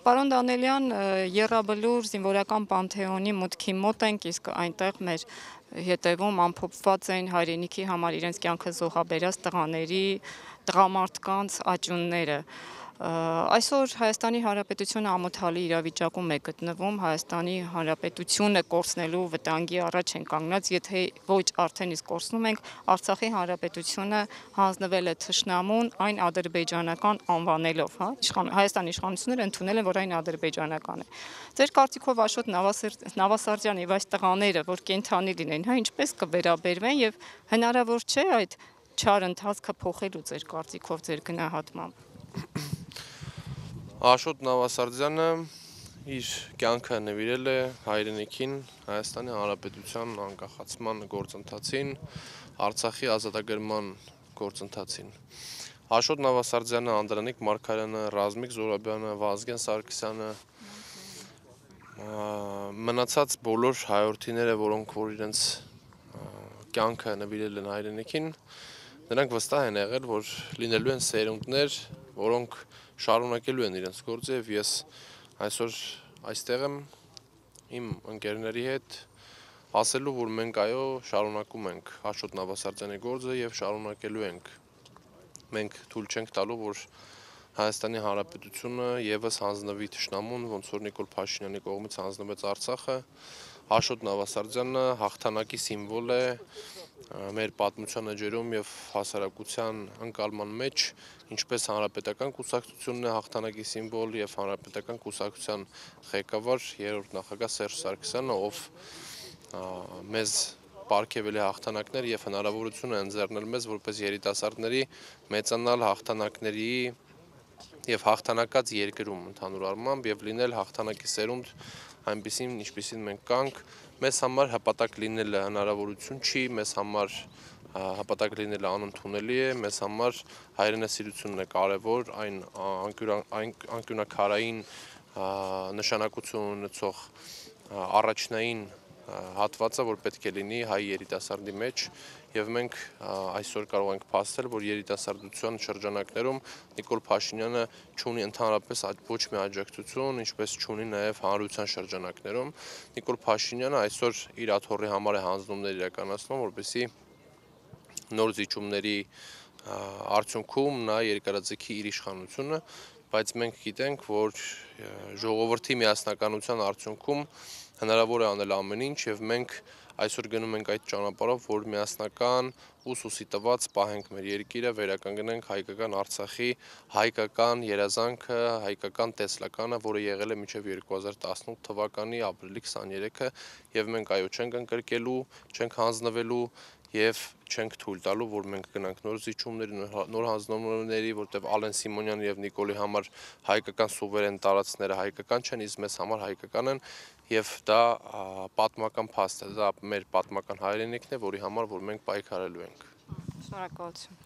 Պարոն Դանելյան, Եռաբլուր զինվորական պանթեոնի մուտքի մոտ ենք, իսկ այնտեղ մեր հետևում ամփոփված են հայրենիքի համար իրենց կյանքը զոհաբերած տղամարդկանց աճյունները։ Այսօր Հայաստանի Հանրապետությունը ամոթալի իրավիճակում է գտնվում, Հայաստանի Հանրապետությունը կորցնելու վտանգի առաջ են կանգնած, եթե ոչ արդեն իսկ կորցնում ենք, Արցախի Հանրապետությունը հանձնվել է թշնամուն այն ադրբեջանական անվանելով, Հայաստանի իշխանությունները ընդունել են, որ այն ադրբեջանական է։ Ձեր կարծիքով Աշոտ Նավասարդյան եւ այս տղաները, որ կենդանի լինեն, ինչպես կվերաբերվեն եւ հնարավոր չէ այդ չար ընթացքը փոխելու ձեր կարծիքով, ձեր գնահատմամբ։ Աշոտ Նավասարդյանը իր կյանքը նվիրել է հայրենիքին, Հայաստանի Հանրապետության անկախացման գործընթացին, Արցախի ազատագրման գործընթացին։ Աշոտ Նավասարդյանը, Անդրանիկ Մարգարյանը, Ռազմիկ Զոհրաբյանը, Վազգեն Սարգսյանը, մնացած բոլոր հայրենիները, որոնք որ իրենց կյանքը նվիրել են հայրենիքին, նրանք վստահ են եղել, որ լինելու են սերունդներ, որոնք շարունակելու են իրենց գործը, եւ ես այսօր այստեղ եմ իմ ընկերների հետ ասելու, որ մենք այո շարունակում ենք Աշոտ Նավասարդյանի գործը եւ շարունակելու ենք։ Մենք թույլ չենք տալու, որ Հայաստանի Հանրապետությունը եւս հանձնվի թշնամուն, ոնց որ Նիկոլ Փաշինյանի կողմից հանձնվեց Արցախը։ Աշոտ Նավասարդյանը հաղթանակի սիմվոլ է մեր պատմության էջերում եւ հասարակության ընկալման մեջ, ինչպես հանրապետական կուսակցությունն է հաղթանակի սիմվոլ եւ հանրապետական կուսակցության ղեկավար երրորդ նախագահ Սերժ Սարգսյանը, ով մեզ պարգևել է հաղթանակներ եւ հնարավորություն է ընձեռնել մեզ որպես երիտասարդների մեծանալ հաղթանակների եւ հաղթանակած երկրում ընդհանուր առմամբ եւ լինել հաղթանակի սերունդ այնպիսին, ինչպիսին մենք կանք, մեզ համար հպատակ լինելը հնարավորություն չի, մեզ համար հպատակ լինելը անընդունելի է, մեզ համար հայրենասիրությունն է կարևոր, այն անկյունաքարային նշանակություն ունեցող առաջնային հատվածը, որ պետք է լինի հայ երիտասարդի մեջ, եւ մենք այսօր կարող ենք փաստել, որ երիտասարդության շրջանակներում Նիկոլ Փաշինյանը չունի ընդհանրապես ոչ մի աջակցություն, ինչպես չունի նաեւ հանրության շրջանակներում։ Նիկոլ Փաշինյանը այսօր իր աթոռի համար է հանձնումներ իրականացնում, որպեսզի նոր զիջումների արդյունքում նա երկարաձգի իր իշխանությունը, բայց մենք գիտենք, որ ժողովրդի միասնականության արդյունքում հնարավոր է անել ամեն ինչ եւ մենք այսօր գնում ենք այդ ճանապարհով, որ միասնական ու սուսի տված պահենք մեր երկիրը, վերականգնենք հայկական Արցախի հայկական երազանքը, հայկական տեսլականը, որը եղել է մինչև 2018 թվականի ապրիլի 23-ը եւ մենք այո չենք ընկրկելու, չենք հանձնվելու եւ չենք թույլ տալու, որ մենք գնանք նոր զիջումների, նոր հանձնումների, որտեղ Ալեն Սիմոնյանի եւ Նիկոլի համար հայկական սուվերեն տարածքները հայկական չեն, իսկ մեզ համար հայկական են եւ դա պատմական փաստ է, դա մեր պատմական հայրենիքն է, որի համար որ մենք պայքարելու ենք։ Շնորհակալություն։